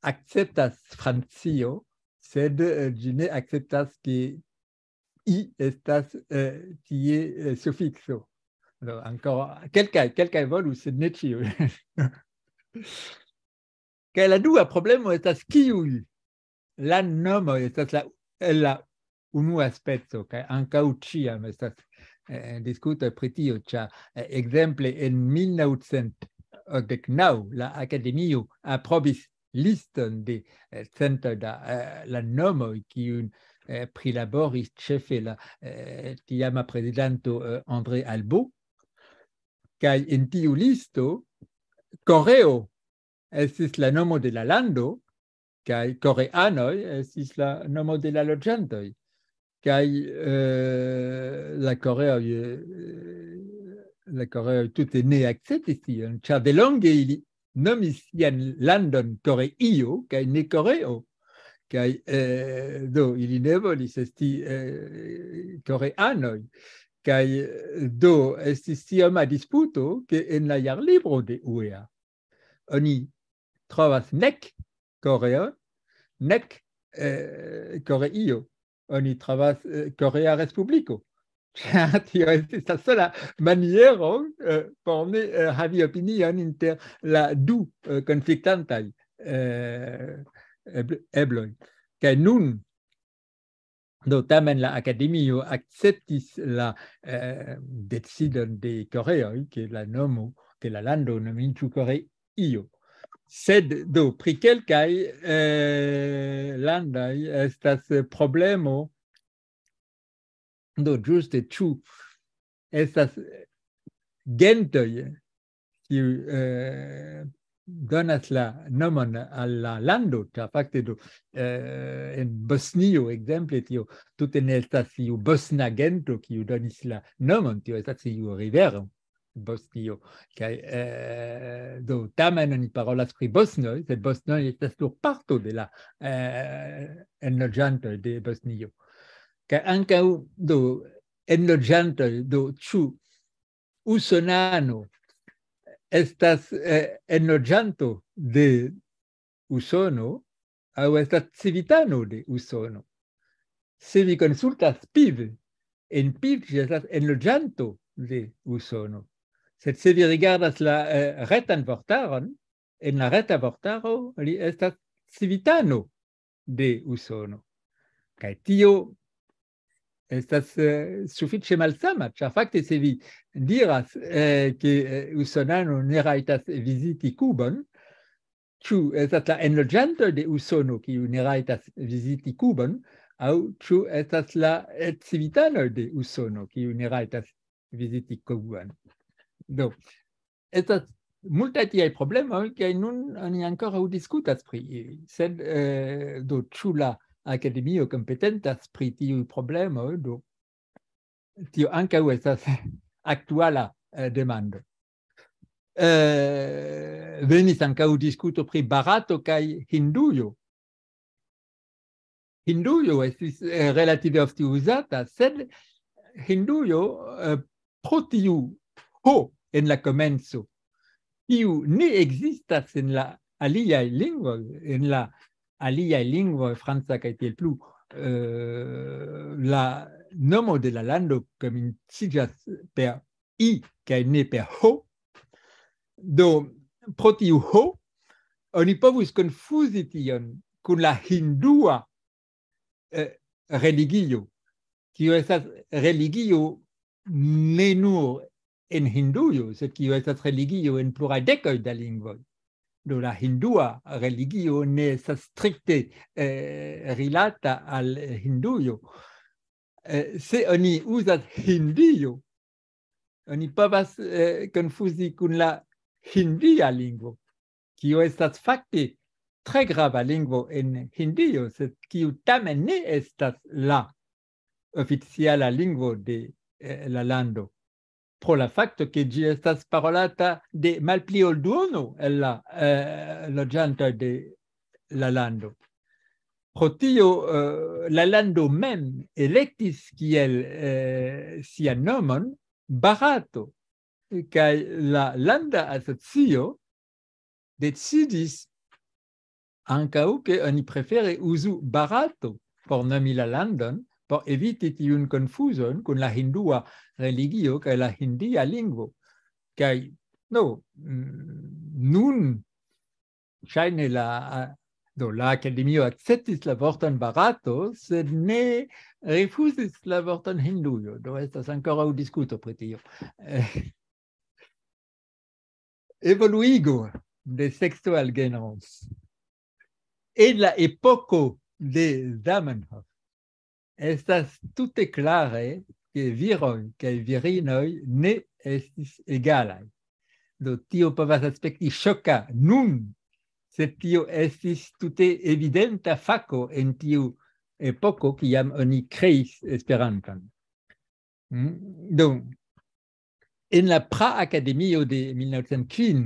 akceptas Francio, sed eh, ĝi ne akceptas, ke i estas eh, tie eh, sufikso. Do, ankoraŭ kelkaj, kelkaj volus, sed ne ĉiuj. Kaj la dua problemo estas, kiuj la nomoj estas la, el la unua speco, kaj ankaŭ ĉiam estas eh, diskutoj pri tio, ĉar eh, ekzemple en mil naŭcent okdek naŭ la Akademio aprobis liston de eh, centoj da eh, la nomoj, kiun eh, prilaboris ĉefe la eh, tiama prezidanto eh, André Albaut. Kaj en tiu listo Koreo estis la nomo de la lando, kaj koreanoj estis la nomo de la loĝantoj. Kaj eh, la koreoj, eh, la koreoj tute ne akceptis tion, ĉar delonge ili nomis sian landon Koreio, kaj ne Koreo. Kaj eh, do, ili ne volis esti eh, koreanoj. Kaj eh, do, estis tioma disputo, ke en la jarlibro de uea oni trovas nek Koreo, nek eh, Koreio. Oni trovas eh, Korea Respubliko. Ĉar tio estis la sola maniero eh, por ne eh, havi opinion inter la du eh, konfliktantaj eh, ebl-, ebloj. Kaj nun, do, tamen la Akademio akceptis la eh, decidon de Koreoj, ke la nomo, ke la lando nomiĝu Koreio. Sed, do, pri kelkaj eh, landoj estas eh, problemo, do, ĝuste, ĉu estas gentoj, kiu eh, donas la nomon al la lando, ĉar fakte, do, eh, en Bosnio, ekzemple, tio tute ne estas iu bosna gento, kiu donis la nomon, tio estas iu rivero, Bosnio. Kaj eh, do, tamen oni parolas pri bosnoj, sed bosnoj estas nur parto de la eh, enloĝantoj de Bosnio. Kaj ankaŭ, do, enloĝantoj, do, ĉu usonano estas eh, enloĝanto de Usono aŭ estas civitano de Usono? Se vi konsultas Piv, en Piv ĝi estas enloĝanto de Usono. Sed se vi rigardas la eh, retan vortaron, en la reta vortaro li estas civitano de Usono. Kaj tio estas eh, sufiĉe malsama, ĉar fakte, se vi diras eh, ke eh, usonano ne rajtas viziti Kubon, ĉu estas la enloĝantoj de Usono, kiu ne rajtas viziti Kubon, aŭ ĉu estas la civitanoj de Usono, kiu ne rajtas viziti Kubon. Do, estas multaj tiaj problemoj, kaj nun oni ankoraŭ diskutas pri ili. Sed eh, do, ĉu la akademio kompetentas pri tiuj problemoj? Do, tio ankaŭ estas aktuala eh, demando. Eh, venis ankaŭ diskuto pri Barato kaj Hindujo. Hindujo estis eh, relative ofte uzata, sed Hindujo eh, pro tiu ho en la komenco, kiu ne ekzistas en la aliaj lingvoj, en la aliaj lingvoj, franca kaj tiel plu, eh, la nomo de la lando komenciĝas per i kaj ne per ho. Do, pro tiu ho, oni povus konfuzi tion kun la hindua eh, religio, kiu estas religio ne nur en Hindujo, sed kiu estas religio en pluraj dekoj da lingvoj. Do, la hindua religio ne estas strikte eh, rilata al Hindujo. Eh, se oni uzas Hindio, oni povas eh, konfuzi kun la hindia lingvo, kiu estas fakte tre grava lingvo en Hindio, sed kiu tamen ne estas la oficiala lingvo de eh, la lando, pro la fakto, ke ĝi estas parolata de malpli ol duono el la eh, loĝantoj de la lando. Pro tio eh, la lando mem elektis kiel eh, sian nomon Barato, kaj la landa asocio decidis ankaŭ, ke oni prefere uzu Barato por nomi la landon, por eviti tiun konfuzon kun la hindua religio kaj la hindia lingvo. Kaj, no, mm, nun ŝajne la, a- do, la akademio akceptis la vorton Barato, sed ne rifuzis la vorton Hindujo. Do, estas ankoraŭ diskuto pri tio. Eh, Evoluigo de sekso al genro. En la epoko de Zamenhof estas tute klare, ke viroj kaj virinoj ne estis egalaj. Do, tio povas aspekti ŝoka nun, sed tio estis tute evidenta fako en tiu epoko, kiam oni kreis Esperanton. Mm? Do, en la Pra Akademio de mil novcent kvin,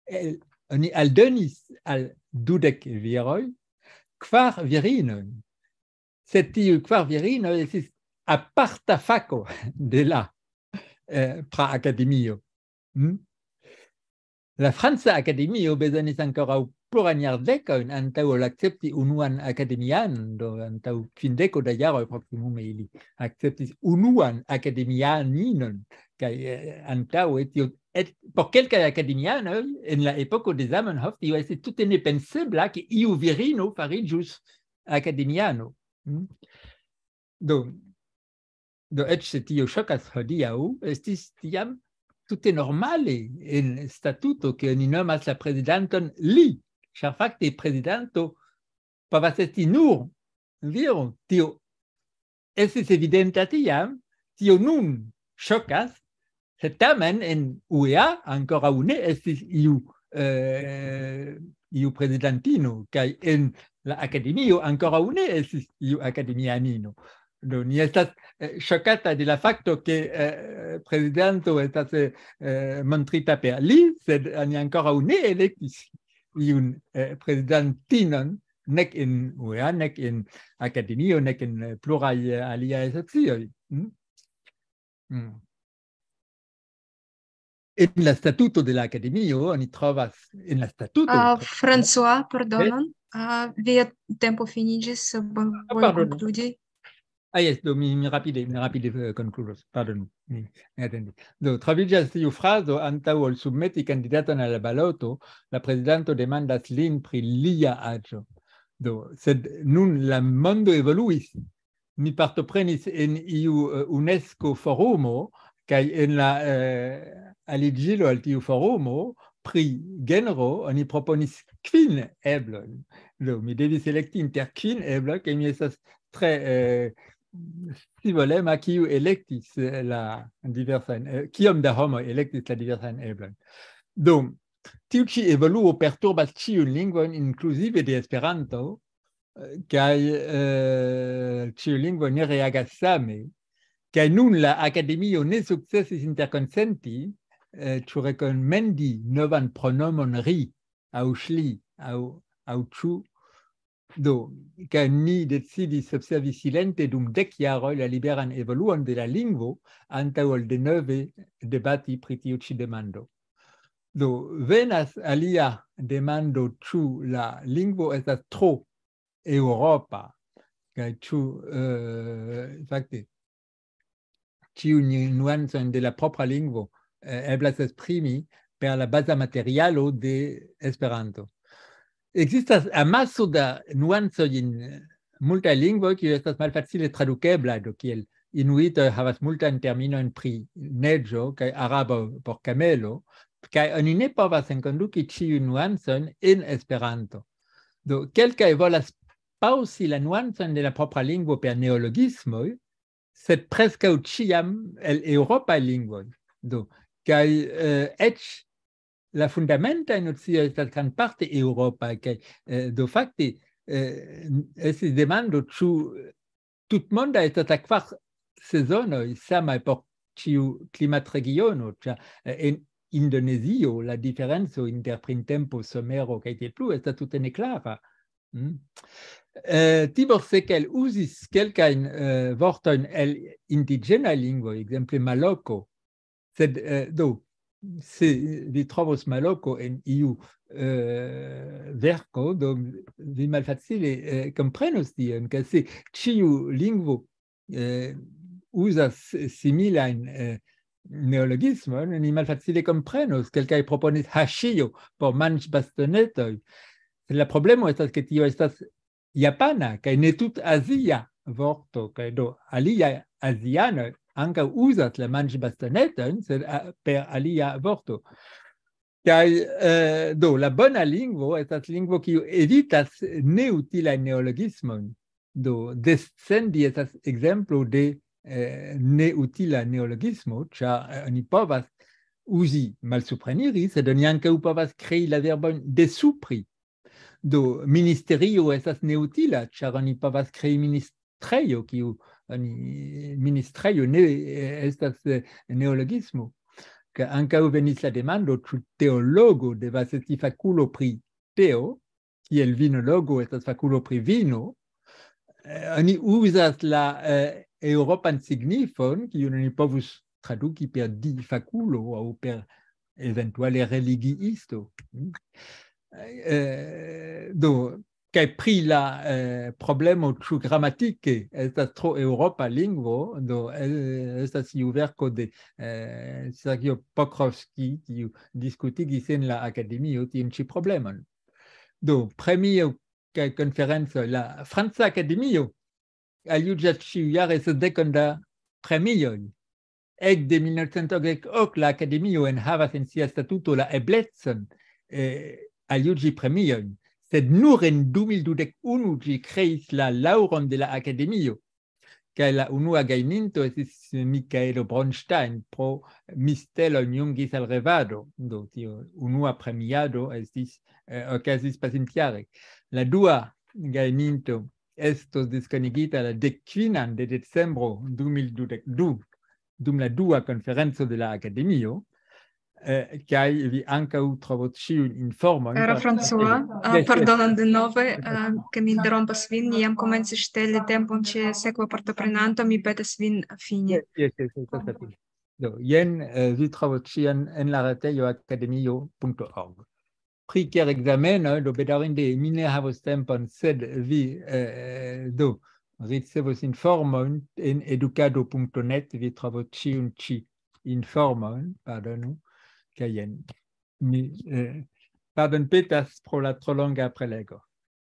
eh, oni aldonis al dudek viroj kvar virinoj. Sed tiuj kvar virinoj estis aparta fako de la eh, Pra Akademio. Mm? La Franca Akademio bezonis ankoraŭ plurajn jardekojn antaŭ ol akcepti unuan akademianon, do antaŭ kvindeko da jaroj proksimume ili akceptis unuan akademianinon, kaj eh, antaŭe tio, et, por kelkaj akademianoj en la epoko de Zamenhof tio estis tute nepensebla, ke iu virino fariĝus akademiano. Mm? Do, do, eĉ se tio ŝokas hodiaŭ, estis tiam tute normale en statuto, ke oni nomas la prezidanton li, ĉar fakte prezidanto povas esti nur viro. Tio estis evidenta tiam, tio nun ŝokas, sed tamen en U E A ankoraŭ ne estis iu, eh, iu prezidantino, kaj en la akademio ankoraŭ ne estis iu akademianino. Do, ni estas eh, ŝokata de la fakto, ke eh, prezidanto estas eh, eh, montrita per li, sed ni ankoraŭ ne elektis iun eh, prezidantinon, nek en U E A, nek en akademio, nek en eh, pluraj eh, aliaj asocioj. Mm? Mm. En la statuto de la akademio oni trovas, en la statuto, Uh, François, pardonon, uh, via tempo finiĝis, uh, bonvolu pardon. Konkludi. Ah, yes, do mi, mi rapide, mi rapide eh, konkludos, pardonu, mi ne atendis. Do, troviĝas tiu frazo: antaŭ ol submeti kandidaton al la baloto, la prezidanto demandas lin pri lia aĝo. Do, sed nun la mondo evoluis. Mi partoprenis en iu eh, UNESCO forumo, kaj en la eh, aliĝilo al tiu forumo pri genro oni proponis kvin eblojn. Do, mi devis elekti inter kvin ebloj, kaj mi estas tre, eh, scivolema, kiu elektis, eh, la diversajn, eh, kiom da homoj elektis la diversajn eblojn. Do, tiu ĉi evoluo perturbas ĉiujn lingvojn, inkluzive de Esperanto, eh, kaj, eh, ĉiuj lingvoj ne reagas same. Kaj nun la Akademio ne sukcesis interkonsenti, eh, ĉu rekomendi novan pronomon ri, aŭ ŝli, aŭ, aŭ ĉu. Do, kaj ni decidis observi silente dum dek jaroj la liberan evoluon de la lingvo, antaŭ ol denove debati pri tiu ĉi demando. Do, venas alia demando, ĉu la lingvo estas tro eŭropa, kaj ĉu, eh, fakte, ĉiujn nuancojn de la propra lingvo, eh, eblas esprimi per la baza materialo de Esperanto. Ekzistas amaso da nuancoj en multaj lingvoj, kiuj estas malfacile tradukeblaj, do kiel inuitoj havas multajn terminojn pri neĝo, kaj arabo por kamelo, kaj oni ne povas enkonduki ĉiujn nuancojn en Esperanto. Do, kelkaj volas paŭsi la nuancojn de la propra lingvo per neologismoj, sed preskaŭ ĉiam el eŭropaj lingvoj. Do, kaj, eh, eĉ la fundamentaj nocioj estas grandparte eŭropaj, kaj, eh, do fakte, eh, estis demando, ĉu tutmonda estas la kvar sezonoj samaj por ĉiu klimatregiono, ĉar, eh, en Indonezio la diferenco inter printempo, somero kaj tiel plu estas tute neklara. Mm. Eh, Tibor Sekel uzis kelkajn, eh, vortojn el indiĝenaj lingvoj, ekzemple maloko. Sed, eh, do, se vi trovos maloko en iu, eh, verko, do vi malfacile, eh, komprenos tion, ke se ĉiu lingvo, eh, uzas similajn, eh, neologismojn, ni malfacile komprenos. Kelkaj proponis haŝio por manĝbastonetoj. Sed la problemo estas, ke tio estas japana, kaj ne tut azia vorto, kaj do aliaj azianoj ankaŭ uzas la manĝbastonetojn, sed, a, per alia vorto. Kaj, eh, do, la bona lingvo estas lingvo, kiu evitas neutilajn neologismojn. Do, descendi estas ekzemplo de, eh, neutila neologismo, ĉar, eh, oni povas uzi malsupreniri, sed oni ankaŭ povas krei la verbojn desupri. Do, ministerio estas neutila, ĉar oni povas krei ministrejo, kiu oni, ministrejo ne, eh, estas, eh, neologismo. Ke ankaŭ venis la demando, ĉu teologo devas esti fakulo pri teo, kiel vinologo estas fakulo pri vino. Eh, oni uzas la, eh, eŭropan signifon, kiun oni povus traduki per di fakulo aŭ per eventuale religiisto. Mm. Eh, do, kaj pri la, eh, problemo, ĉu gramatike estas tro eŭropa lingvo, do, eh, estas iu verko de, eh, Sergio Pokrovski, kiu diskutigis en la akademio tiun ĉi problemon. Do, premio kaj konferenco, la Franca Akademio aljuĝas ĉiujare sesdekon da premioj. Ekde mil novcent okdek ok la Akademio enhavas en sia statuto la eblecon, eh, aljuĝi premiojn, sed nur en du mil dudek unu ĝi kreis la laŭron de la Akademio. Kaj la unua gajninto estis Mikaelo Bronstein pro Mistelojn jungis al revado. Do, tio unua premiado estis, eh, okazis pasintjare. La dua gajninto estos diskonigita la dek kvinan de decembro du mil dudek du, dum la dua konferenco de la Akademio, eh, kaj vi ankaŭ trovos ĉiujn informojn. Cara François, ah, yes, yes, pardonon denove, ah, ke mi interrompas vin, ni jam komencis ŝteli tempon ĉe sekva partoprenanto, mi petas vin fini. Yes, yes, yes, yes, yes. Do, jen, eh, vi trovos ĉion en la retejo akademio punto org. Pri kiel ekzameno, do bedaŭrinde mi ne havos tempon, sed vi, eh, do, ricevos informojn en edukado punto net, vi trovos ĉiun ĉi informojn, pardonu, kaj jen. Mi, eh, pardonpetas pro la tro longa prelego.